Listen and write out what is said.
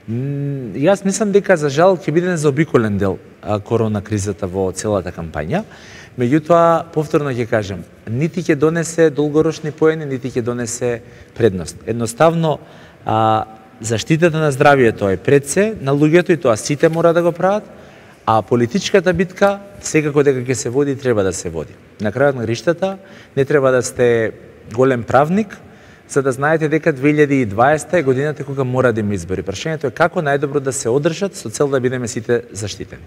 Јас мислам дека за жал ќе биде незаобиколен дел корона кризата во целата кампања. Меѓутоа, повторно ќе кажем, нити ќе донесе долгорочни поени, нити ќе донесе предност. Едноставно, заштитата на здравието е пред се на луѓето и тоа сите мора да го прават, а политичката битка секако дека ќе се води и треба да се води. На крајот на гриштата не треба да сте голем правник за да знаете дека 2020 е годината кога мора да има избори. Прашањето е како најдобро да се одржат со цел да бидеме сите заштитени.